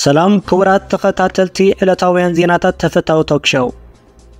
ሰላም ክቡራት ተኸታተልቲ ዕለታውያን ዜናታት ተፈታዊ ቶክ ሾው።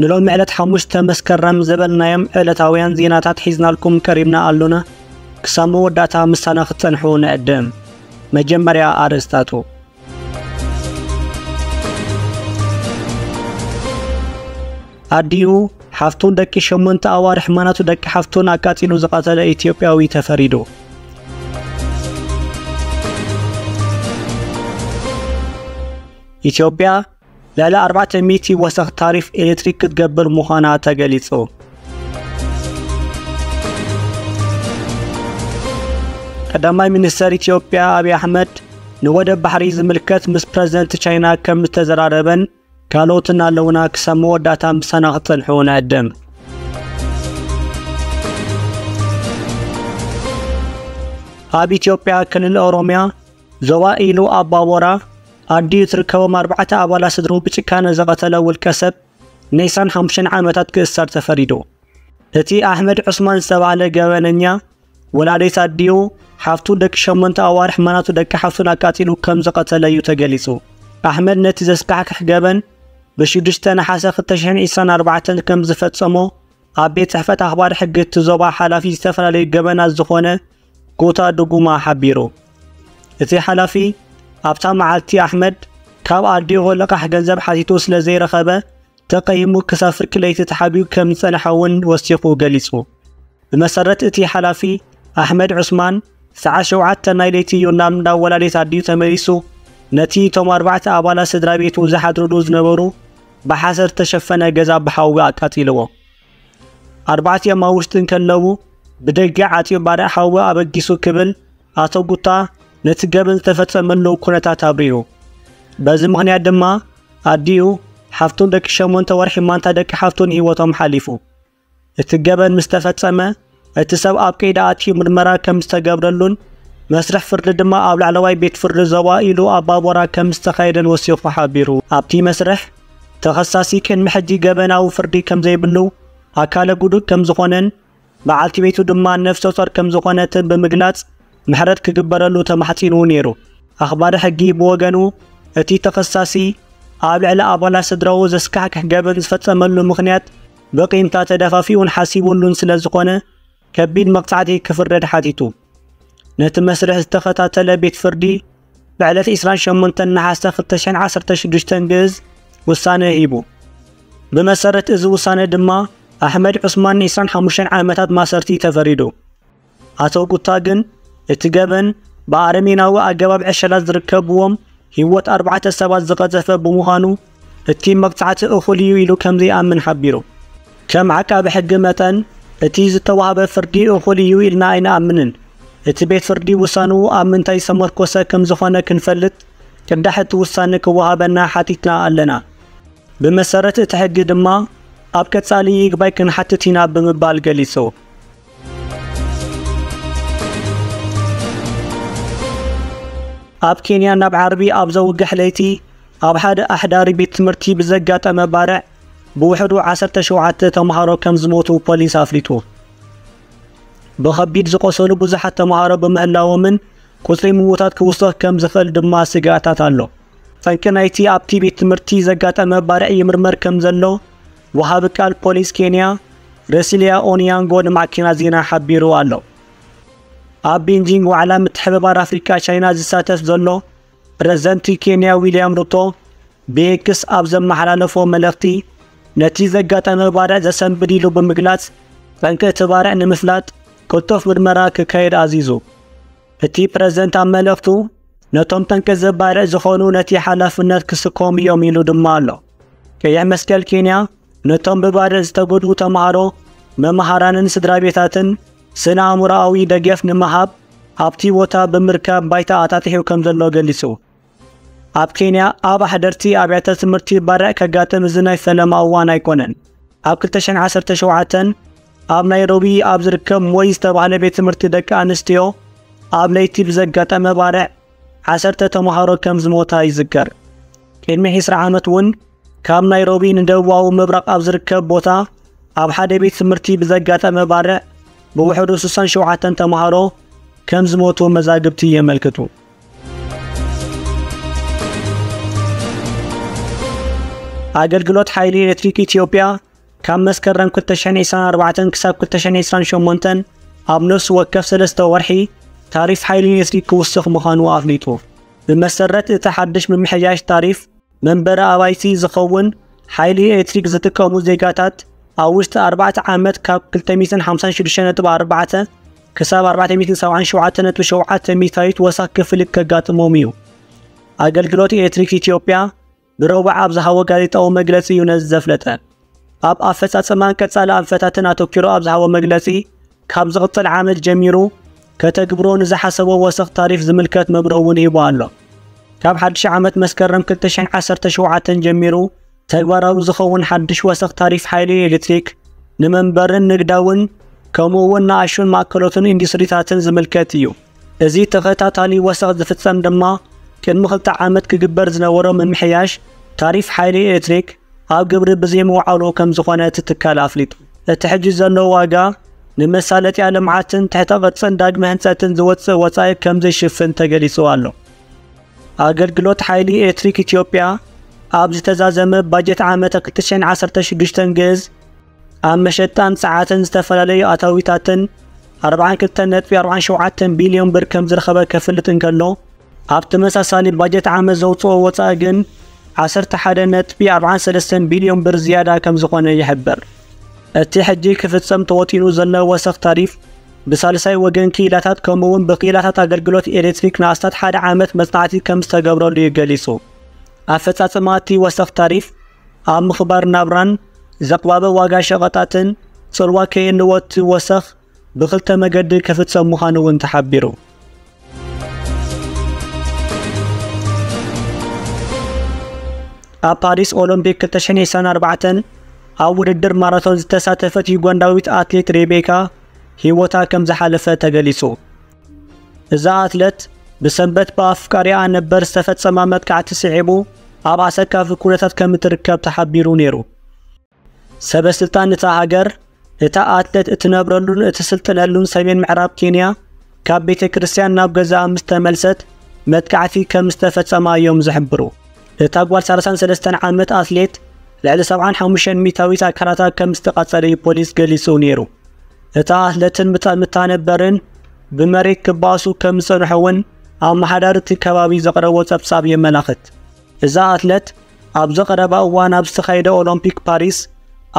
ንሎሚ ዕለት ሓሙሽተ መስከረም ዝበልናዮም ዕለታውያን ዜናታት ሒዝናልኩም ቀሪብና ኣሎና። ክሳብ መወዳእታ ምሳና ክትጸንሑ ንዕድም። መጀመርያ ኣርእስታቱ። ኣዲኡ ሓፍቱን ደቂ ሸሞንተ ኣዋርሕ ማናቱ ደቂ ሓፍቱን ኣቃጺሉ ዝቐተለ ኢትዮጵያዊ ተፈሪዱ። ኢትዮጵያ ልዕሊ ኣርባዕተ ሚእቲ ወሰኽ ታሪፍ ኤሌክትሪክ ክትገብር ምዃና ተገሊጹ። ቀዳማይ ሚኒስተር ኢትዮጵያ ኣብይ ኣሕመድ ንወደብ ባሕሪ ዝምልከት ምስ ፕረዚደንት ቻይና ከም ዝተዘራረበን ካልኦትን ኣለውና። ክሳብ መወዳእታ ምሳና ክትጸንሑ ንዕድም። ኣብ ኢትዮጵያ ክልል ኦሮሚያ ዞባ ኢሉ ኣባቦራ ኣዲኡ ትርከቦም ኣርባዕተ ኣባላት ስድርኡ ብጭካነ ዝቐተለ ውልቀ ሰብ ንዒስራን ሓሙሽተን ዓመታት ክእሰር ተፈሪዱ። እቲ ኣሕመድ ዑስማን ዝተባህለ ገበነኛ ወላዲት ኣዲኡ፣ ሓፍቱ፣ ደቂ ሸሞንተ ኣዋርሕ ማናቱ ደቂ ሓፍቱን ኣቃጺሉ ከም ዝቐተለ እዩ ተገሊጹ። ኣሕመድ ነቲ ዘስካሕክሕ ገበን ብሽዱሽተ ነሓሰ ክልተ ሽሕን ዕስራን ኣርባዕተን ከም ዝፈጸሞ ኣብ ቤት ጽሕፈት ኣኽባሪ ሕጊ እቲ ዞባ ሓላፊ ዝተፈላለዩ ገበናት ዝኾነ ጎታ ድጉማ ሓቢሩ። እቲ ሓላፊ ኣብታ መዓልቲ ኣሕመድ ካብ ኣዲኡ ልቓሕ ገንዘብ ሓቲቱ ስለ ዘይረኸበ ተቐይሙ ክሳብ ፍርቂ ለይቲ ተሓቢኡ ከም ዝጸንሐ እውን ወሲኹ ገሊጹ። ብመሰረት እቲ ሓላፊ፣ ኣሕመድ ዑስማን ሰዓት ሸውዓተ ናይ ለይቲ እዩ ናብ እንዳ ወላዲት ኣዲኡ ተመሊሱ። ነቲ እቶም ኣርባዕተ ኣባላት ስድራ ቤቱ ዝሓድሩሉ ዝነበሩ ብሓሰር ዝተሸፈነ ገዛ ብሓዊ ኣቃጺልዎ። ኣርባዕቲኦም ኣብ ውሽጢ እንከለዉ ብደገ ዓጽዩ ባርዕ ሓዊ ኣበጊሱ ክብል ኣቶ ጉታ ነቲ ገበን ዝተፈጸመሉ ኩነታት ኣብሪሁ። በዚ ምኽንያት ድማ ኣዲኡ፣ ሓፍቱን ደቂ ሸሞንተ ወርሒ ማንታ ደቂ ሓፍቱን ህይወቶም ሓሊፉ። እቲ ገበን ምስ ተፈጸመ፣ እቲ ሰብ ኣብ ቀይዲ ኣትዩ ምርመራ ከም ዝተገብረሉን መስርሕ ፍርዲ ድማ ኣብ ላዕለዋይ ቤት ፍርዲ ዞባ ኢሉ ኣባቦራ ከም ዝተኻየደን ወሲኹ ሓቢሩ። ኣብቲ መስርሕ፣ ተኸሳሲ ቅድሚ ሕጂ ገበናዊ ፍርዲ ከም ዘይብሉ፣ ኣካለ ጉዱእ ከም ዝኾነን በዓልቲ ቤቱ ድማ ነፍሰ ጾር ከም ዝኾነትን ብምግላጽ ምሕረት ክግበረሉ ተማሕጺኑ ነይሩ። ኣኽባሪ ሕጊ ብወገኑ፣ እቲ ተኸሳሲ ኣብ ልዕሊ ኣባላት ስድራኡ ዘስካሕክሕ ገበን ዝፈጸመሉ ምኽንያት ብቂምታ ተደፋፊኡን ሓሲቡሉን ስለ ዝኾነ ከቢድ መቕጻዕቲ ክፍረድ ሓቲቱ። ነቲ መስርሕ ዝተኸታተለ ቤት ፍርዲ ብዕለት ዕስራን ሸሞንተን ነሓሰ ክልተ ሽሕን ዓሰርተ ሽዱሽተን ግእዝ ውሳነ ሂቡ። ብመሰረት እዚ ውሳነ ድማ ኣሕመድ ዑስማን ዕስራን ሓሙሽተን ዓመታት ማሰርቲ ተፈሪዱ። ኣቶ ጉታ ግን እቲ ገበን ብኣረሜናዊ ኣገባብ ዕሸላት ዝርከብዎም ህይወት ኣርባዕተ ሰባት ዝቐዘፈ ብምዃኑ እቲ መቕጻዕቲ እኹል እዩ ኢሉ ከም ዘይኣምን ሓቢሩ። ከም ዓቃቢ ሕጊ መጠን እቲ ዝተዋህበ ፍርዲ እኹል እዩ ኢልና ኣይንኣምንን። እቲ ቤት ፍርዲ ውሳንኡ ኣብ ምንታይ ዝተመርኮሰ ከም ዝኾነ ክንፈልጥ ቅዳሕ እቲ ውሳነ ክወሃበና ሓቲትና ኣለና። ብመሰረት እቲ ሕጊ ድማ ኣብ ቀጻሊ ይግባይ ክንሓትት ኢና ብምባል ገሊጹ። ኣብ ኬንያ ናብ ዓርቢ ኣብ ዘውግሕ ለይቲ ኣብ ሓደ ኣሕዳሪ ቤት ትምህርቲ ብዘጋጠመ ባርዕ ብውሕዱ ዓሰርተ ሸውዓተ ተምሃሮ ከም ዝሞቱ ፖሊስ ኣፍሊጡ። ብኸቢድ ዝቖሰሉ ብዙሓት ተምሃሮ ብምህላዎምን ቁጽሪ ምዉታት ክውስኽ ከም ዝኽእል ድማ ስግኣታት ኣሎ። ጠንቂ ናይቲ ኣብቲ ቤት ትምህርቲ ዘጋጠመ ባርዕ ይምርመር ከም ዘሎ ወሃቢ ቃል ፖሊስ ኬንያ ረሲሊያ ኦንያንጎ ንማዕከናት ዜና ሓቢሩ ኣሎ። ኣብ ቤንጂንግ ዋዕላ ምትሕብባር ኣፍሪቃ ቻይና ዝሳተፍ ዘሎ ፕረዚደንት ኬንያ ዊልያም ሩቶ ብኤክስ ኣብ ዘመሓላለፎ መልእኽቲ፣ ነቲ ዘጋጠመ ባርዕ ዘሰንብድ ኢሉ ብምግላጽ፣ ጠንቂ እቲ ባርዕ ንምፍላጥ ቅልጡፍ ምርመራ ክካየድ ኣዚዙ። እቲ ፕረዚደንት ኣብ መልእኽቱ፣ ነቶም ጠንቂ እዚ ባርዕ ዝኾኑ ነቲ ሓላፍነት ክስከሙ እዮም ኢሉ ድማ ኣሎ። ቀይሕ መስቀል ኬንያ ነቶም ብባርዕ ዝተጎድኡ ተምሃሮ፣ መምሃራንን ስድራ ቤታትን ስነ ኣእምሮኣዊ ደገፍ ንምሃብ ኣብቲ ቦታ ብምርካብ ባይታ ኣጣጢሑ ከም ዘሎ ገሊጹ። ኣብ ኬንያ ኣብ ኣሕደርቲ ኣብያተ ትምህርቲ ባርዕ ከጋጥም እዚ ናይ ፈለማ እዋን ኣይኮነን። ኣብ ክልተ ሽሕን ዓሰርተ ሸውዓተን ኣብ ናይሮቢ ኣብ ዝርከብ ሞይ ዝተባህለ ቤት ትምህርቲ ደቂ ኣንስትዮ ኣብ ለይቲ ብዘጋጠመ ባርዕ ዓሰርተ ተምሃሮ ከም ዝሞታ ይዝከር። ቅድሚ ዕስራ ዓመት እውን ካብ ናይሮቢ ንደቡባዊ ምብራቕ ኣብ ዝርከብ ቦታ ኣብ ሓደ ቤት ትምህርቲ ብዘጋጠመ ባርዕ ብውሕዱ ስሳን ሸውዓተን ተምሃሮ ከም ዝሞቱ መዛግብቲ የመልክቱ። ኣገልግሎት ሓይሊ ኤሌክትሪክ ኢትዮጵያ ካብ መስከረም ክልተ ሽሕን ዕስራን ኣርባዕተን ክሳብ ክልተ ሽሕን ዕስራን ሸሞንተን ኣብ ነፍሲ ወከፍ ሰለስተ ወርሒ ታሪፍ ሓይሊ ኤሌክትሪክ ክውስኽ ምዃኑ ኣፍሊጡ። ብመሰረት እቲ ሓድሽ ምምሕያሽ ታሪፍ፣ መንበሪ ኣባይቲ ዝኸውን ሓይሊ ኤሌክትሪክ ዝጥቀሙ ዜጋታት ኣብ ውሽጢ ኣርባዕተ ዓመት ካብ ክልተ ሚእትን ሓምሳን ሽዱሽተ ነጥቢ ኣርባዕተ ክሳብ ኣርባዕተ ሚእትን ሰብዓን ሸውዓተ ነጥቢ ሸውዓተ ሚእታዊት ወሰኽ ክፍሊት ከጋጥሞም እዩ። ኣገልግሎት ኤሌክትሪክ ኢትዮጵያ ብረቡዕ ኣብ ዝሃቦ ጋዜጣዊ መግለጺ እዩ ነዚ ዘፍለጠ። ኣብ ኣፈጻጽማን ቀጻሊ ኣንፈታትን ኣተኲሩ ኣብ ዝሃቦ መግለጺ፣ ካብ ዝቕጽል ዓመት ጀሚሩ ከተግብሮ ንዝሓሰቦ ወሰኽ ታሪፍ ዝምልከት መብርሂ እውን ሂቡ ኣሎ። ካብ ሓድሽ ዓመት መስከረም ክልተ ሽሕን ዓሰርተ ሸውዓተን ጀሚሩ ተግባራዊ ዝኸውን ሓድሽ ወሰኽ ታሪፍ ሓይሊ ኤሌክትሪክ ንመንበርን ንግዳውን ከምኡ እውን ንኣሽቱን ማእከሎትን ኢንዱስትሪታትን ዝምልከት እዩ። እዚ ተኸታታሊ ወሰኽ ዝፍጸም ድማ ቅድሚ ክልተ ዓመት ክግበር ዝነበሮ ምምሕያሽ ታሪፍ ሓይሊ ኤሌክትሪክ ኣብ ግብሪ ብዘይምውዓሉ ከም ዝኾነ እቲ ትካል ኣፍሊጡ። እቲ ሕጂ ዘሎ ዋጋ ንመሳለጥያ ልምዓትን ትሕተ ቅርጽን ዳግመ ህንጸትን ዝወጽእ ወጻኢ ከም ዘይሽፍን ተገሊጹ ኣሎ። ኣገልግሎት ሓይሊ ኤሌክትሪክ ኢትዮጵያ ኣብ ዝተዛዘመ ባጀት ዓመት ክልተ ሽሕን ዓሰርተ ሽዱሽተን ግእዝ ኣብ መሸጣን ጸዓትን ዝተፈላለዩ ኣታዊታትን ኣርባዓን ክልተን ነጥቢ ኣርባዓን ሸውዓተን ቢልዮን ብር ከም ዝረኸበ ከፍልጥ እንከሎ፣ ኣብ ተመሳሳሊ ባጀት ዓመት ዘውጽኦ ወጻኢ ግን ዓሰርተ ሓደ ነጥቢ ኣርባዓን ሰለስተን ቢልዮን ብር ዝያዳ ከም ዝኾነ ይሕብር። እቲ ሕጂ ክፍጸም ተወጢኑ ዘሎ ወሰኽ ታሪፍ ብሳልሳይ ወገን ክኢላታት ከምኡ እውን ብክኢላታት ኣገልግሎት ኤሌክትሪክ ንኣስታት ሓደ ዓመት መጽናዕቲ ከም ዝተገብረሉ እዩ ገሊጹ። ኣፈጻጽማ እቲ ወሰኽ ታሪፍ ኣብ ምኽባር ናብራን ዘቕባበ ዋጋ ሸቐጣትን ጽልዋ ከየንዎ እቲ ወሰኽ ብኽልተ መገዲ ክፍጸም ምዃኑ እውን ተሓቢሩ። ኣብ ፓሪስ ኦሎምፒክ ክልተ ሽሕን ዕስራን ኣርባዕተን ኣብ ውድድር ማራቶን ዝተሳተፈት ዩጋንዳዊት ኣትሌት ሬቤካ ህይወታ ከም ዝሓለፈ ተገሊጹ። እዛ ኣትሌት ብሰንበት ብኣፍቃሪኣ ነበር ዝተፈጸማ መጥቃዕቲ ስዒቡ ኣብ ኣሰካፊ ኩነታት ከም እትርከብ ተሓቢሩ ነይሩ። ሰበ ስልጣን እታ ሃገር፣ እታ ኣትሌት እትነብረሉን እትስልጥነሉን ሰሜን ምዕራብ ኬንያ፣ ካብ ቤተ ክርስቲያን ናብ ገዛኣ ምስ ተመልሰት መጥቃዕቲ ከም ዝተፈጸማ እዮም ዝሕብሩ። እታ ጓል ሰላሳን ሰለስተን ዓመት ኣትሌት ልዕሊ ሰብዓን ሓሙሽተን ሚእታዊት ኣካላታ ከም ዝተቓጸለ እዩ ፖሊስ ገሊጹ ነይሩ። እታ ኣትሌትን ምታ-፣ ምታ ነበርን ብመሬት ክባእሱ ከም ዝጸንሑ እውን ኣመሓዳሪ እቲ ከባቢ ዘቕረቦ ጸብጻብ የመላኽት። እዛ ኣትሌት ኣብዚ ቀረባ እዋን ኣብ ዝተኻየደ ኦሎምፒክ ፓሪስ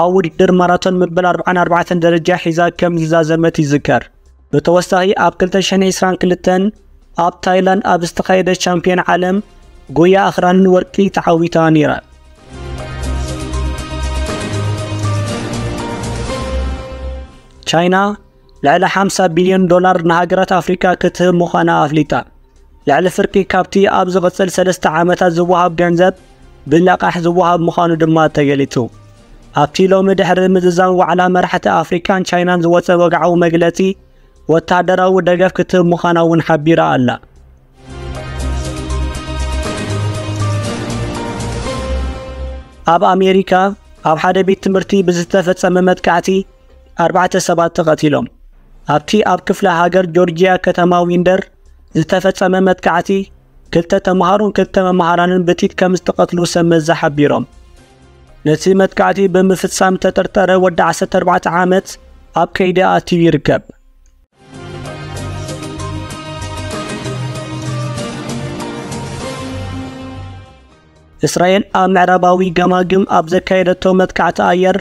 ኣብ ውድድር ማራቶን መበል ኣርባዓን ኣርባዕተን ደረጃ ሒዛ ከም ዝዛዘመት ይዝከር። ብተወሳኺ ኣብ ክልተ ሽሕን ዕስራን ክልተን ኣብ ታይላንድ ኣብ ዝተኻየደ ቻምፒዮን ዓለም ጉያ ኣኽራንን ወርቂ ተዓዊታ ነይራ። ቻይና ልዕሊ ሓምሳ ቢልዮን ዶላር ንሃገራት ኣፍሪቃ ክትህብ ምዃና ኣፍሊጣ። ልዕሊ ፍርቂ ካብቲ ኣብ ዝቕጽል ሰለስተ ዓመታት ዝወሃብ ገንዘብ ብለቓሕ ዝወሃብ ምዃኑ ድማ ተገሊጹ። ኣብቲ ሎሚ ድሕሪ ምዝዛም ዋዕላ መራሕቲ ኣፍሪቃን ቻይናን ዝወጸ ወግዓዊ መግለጺ፣ ወተሃደራዊ ደገፍ ክትህብ ምዃና እውን ሓቢራ ኣላ። ኣብ ኣሜሪካ ኣብ ሓደ ቤት ትምህርቲ ብዝተፈጸመ መጥቃዕቲ ኣርባዕተ ሰባት ተቐቲሎም። ኣብቲ ኣብ ክፍለ ሃገር ጆርጂያ ከተማ ዊንደር ዝተፈጸመ መጥቃዕቲ፣ ክልተ ተምሃሮን ክልተ መምሃራንን ብጥይት ከም ዝተቐትሉ ሰብ መዚ ሓቢሮም። ነቲ መጥቃዕቲ ብምፍጻም ተጠርጠረ ወዲ ዓሰርተ ኣርባዕተ ዓመት ኣብ ቀይዲ ኣትዩ ይርከብ። እስራኤል ኣብ ምዕራባዊ ገማግም ኣብ ዘካየደቶ መጥቃዕቲ ኣየር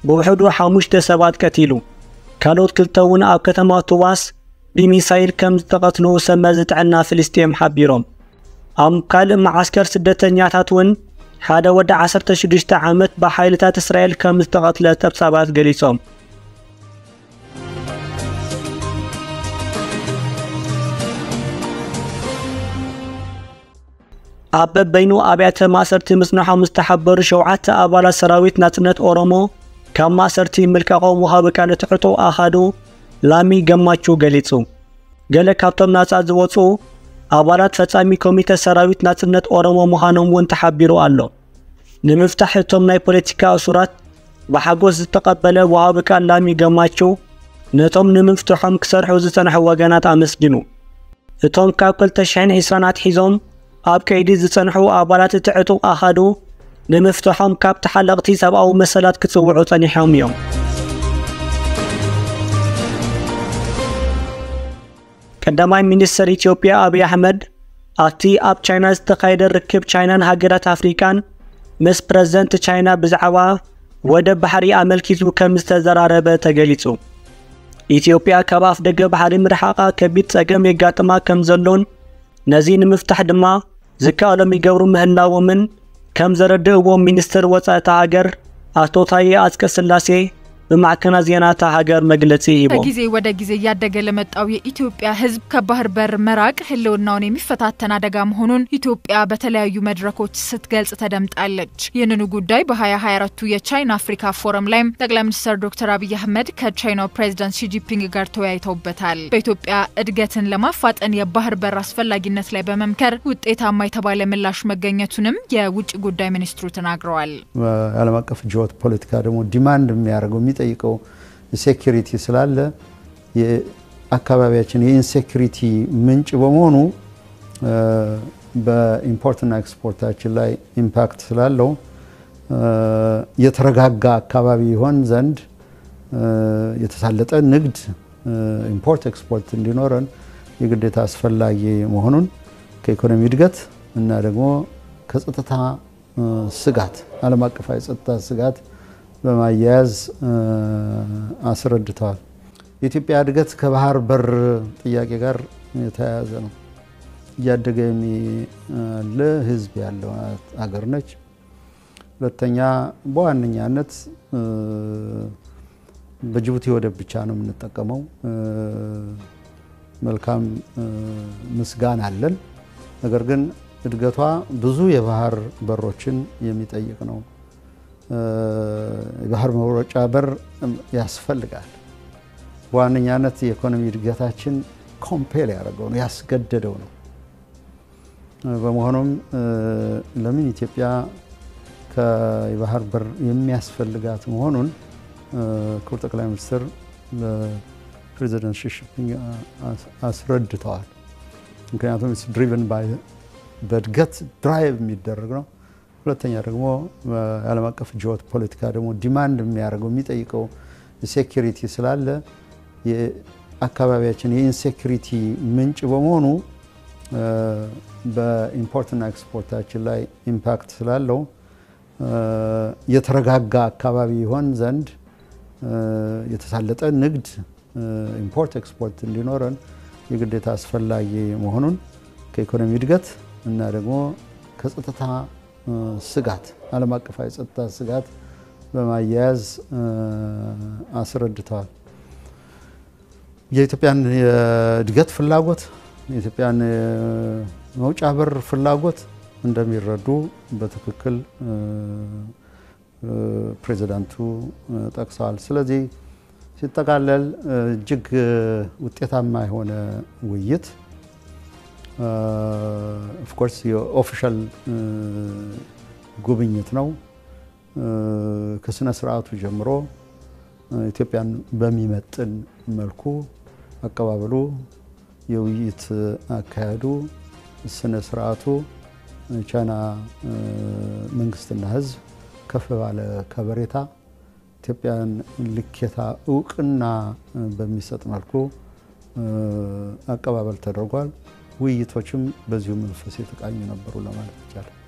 ብውሕዱ ሓሙሽተ ሰባት ቀቲሉ። ካልኦት ክልተ እውን ኣብ ከተማ ቱባስ ብሚሳይል ከም ዝተቐትሉ ሰብ መዚ ጥዕና ፍልስጤም ሓቢሮም። ኣብ ካልእ መዓስከር ስደተኛታት እውን ሓደ ወዲ ዓሰርተ ሽዱሽተ ዓመት ብሓይልታት እስራኤል ከም ዝተቐትለ ጸብጻባት ገሊጾም። ኣብ በበይኑ ኣብያተ ማእሰርቲ ምጽንሖም ዝተሓበሩ ሸውዓተ ኣባላት ሰራዊት ናጽነት ኦሮሞ ካብ ማእሰርቲ ምልቃቖም ወሃቢ ቃል እቲ ዕጡቕ ኣሃዱ ላሚ ገማቹ ገሊጹ። ገለ ካብቶም ናጻ ዝወጹ ኣባላት ፈጻሚ ኮሚተ ሰራዊት ናጽነት ኦሮሞ ምዃኖም እውን ተሓቢሩ ኣሎ። ንምፍታሕ እቶም ናይ ፖለቲካ እሱራት ብሓጎስ ዝተቐበለ ወሃቢ ቃል ላሚ ገማቹ፣ ነቶም ንምፍትሖም ክሰርሑ ዝጸንሑ ወገናት ኣመስጊኑ። እቶም ካብ ክልተ ሽሕን ዕስራን ኣትሒዞም ኣብ ቀይዲ ዝጸንሑ ኣባላት እቲ ዕጡቕ ኣሃዱ ንምፍትሖም ካብ ተሓለቕቲ ሰብኣዊ መሰላት ክጽውዑ ጸኒሖም እዮም። ቀዳማይ ሚኒስትር ኢትዮጵያ ኣብይ ኣሕመድ ኣብቲ ኣብ ቻይና ዝተኻየደ ርክብ ቻይናን ሃገራት ኣፍሪቃን ምስ ፕረዚደንት ቻይና ብዛዕባ ወደብ ባሕሪ ኣመልኪቱ ከም ዝተዘራረበ ተገሊጹ። ኢትዮጵያ ካብ ኣፍ ደገ ባሕሪ ምርሓቓ ከቢድ ጸገም የጋጥማ ከም ዘሎን ነዚ ንምፍታሕ ድማ ዝከኣሎም ይገብሩ ምህላዎምን ከም ዘረድእዎ ሚኒስትር ወጻኢ እታ ሃገር ኣቶ ታዬ ኣጽቀ ስላሴ ብማዕከናት ዜና እታ ሃገር መግለጺ ሂቦም። ከጊዜ ወደ ጊዜ እያደገ ለመጣው የኢትዮጵያ ሕዝብ ከባህር በር መራቅ ህልውናውን የሚፈታተን አደጋ መሆኑን ኢትዮጵያ በተለያዩ መድረኮች ስትገልጽ ተደምጣለች። ይህንኑ ጉዳይ በ2024ቱ የቻይና አፍሪካ ፎረም ላይም ጠቅላይ ሚኒስትር ዶክተር አብይ አህመድ ከቻይናው ፕሬዚዳንት ሺጂፒንግ ጋር ተወያይተውበታል። በኢትዮጵያ እድገትን ለማፋጠን የባህር በር አስፈላጊነት ላይ በመምከር ውጤታማ የተባለ ምላሽ መገኘቱንም የውጭ ጉዳይ ሚኒስትሩ ተናግረዋል። የዓለም አቀፍ ጂኦ ፖለቲካ ደግሞ ዲማንድ የሚያደርገው የሚጠይቀው ሴኩሪቲ ስላለ የአካባቢያችን የኢንሴኩሪቲ ምንጭ በመሆኑ በኢምፖርትና ኤክስፖርታችን ላይ ኢምፓክት ስላለው የተረጋጋ አካባቢ ይሆን ዘንድ የተሳለጠ ንግድ ኢምፖርት ኤክስፖርት እንዲኖረን የግዴታ አስፈላጊ መሆኑን ከኢኮኖሚ እድገት እና ደግሞ ከጸጥታ ስጋት ዓለም አቀፋዊ የጸጥታ ስጋት በማያያዝ አስረድተዋል። የኢትዮጵያ እድገት ከባህር በር ጥያቄ ጋር የተያያዘ ነው። እያደገ የሚያለ ህዝብ ያለው ሀገር ነች። ሁለተኛ በዋነኛነት በጅቡቲ ወደብ ብቻ ነው የምንጠቀመው። መልካም ምስጋና አለን። ነገር ግን እድገቷ ብዙ የባህር በሮችን የሚጠይቅ ነው። የባህር መውጫ በር ያስፈልጋል። በዋነኛነት የኢኮኖሚ እድገታችን ኮምፔል ያደረገው ነው፣ ያስገደደው ነው። በመሆኑም ለምን ኢትዮጵያ የባህር በር የሚያስፈልጋት መሆኑን ክቡር ጠቅላይ ሚኒስትር ለፕሬዚደንት ሺ ጂንፒንግ አስረድተዋል። ምክንያቱም ድሪቨን ባይ በእድገት ድራይቭ የሚደረግ ነው። ሁለተኛ ደግሞ የዓለም አቀፍ ጂኦ ፖለቲካ ደግሞ ዲማንድ የሚያደርገው የሚጠይቀው ሴኩሪቲ ስላለ የአካባቢያችን የኢንሴኩሪቲ ምንጭ በመሆኑ በኢምፖርትና ኤክስፖርታችን ላይ ኢምፓክት ስላለው የተረጋጋ አካባቢ ይሆን ዘንድ የተሳለጠ ንግድ ኢምፖርት ኤክስፖርት እንዲኖረን የግዴታ አስፈላጊ መሆኑን ከኢኮኖሚ እድገት እና ደግሞ ከጸጥታ ስጋት ዓለም አቀፋዊ የጸጥታ ስጋት በማያያዝ አስረድተዋል። የኢትዮጵያን የእድገት ፍላጎት፣ የኢትዮጵያን መውጫ በር ፍላጎት እንደሚረዱ በትክክል ፕሬዚዳንቱ ጠቅሰዋል። ስለዚህ ሲጠቃለል እጅግ ውጤታማ የሆነ ውይይት ኦፍኮርስ የኦፊሻል ጉብኝት ነው። ከስነ ስርዓቱ ጀምሮ ኢትዮጵያን በሚመጥን መልኩ አቀባበሉ፣ የውይይት አካሄዱ፣ ስነ ስርዓቱ ቻይና መንግስትና ህዝብ ከፍ ባለ ከበሬታ ኢትዮጵያን ልኬታ እውቅና በሚሰጥ መልኩ አቀባበል ተደርጓል። ውይይቶችም በዚሁ መንፈስ የተቃኙ ነበሩ ለማለት ይቻላል።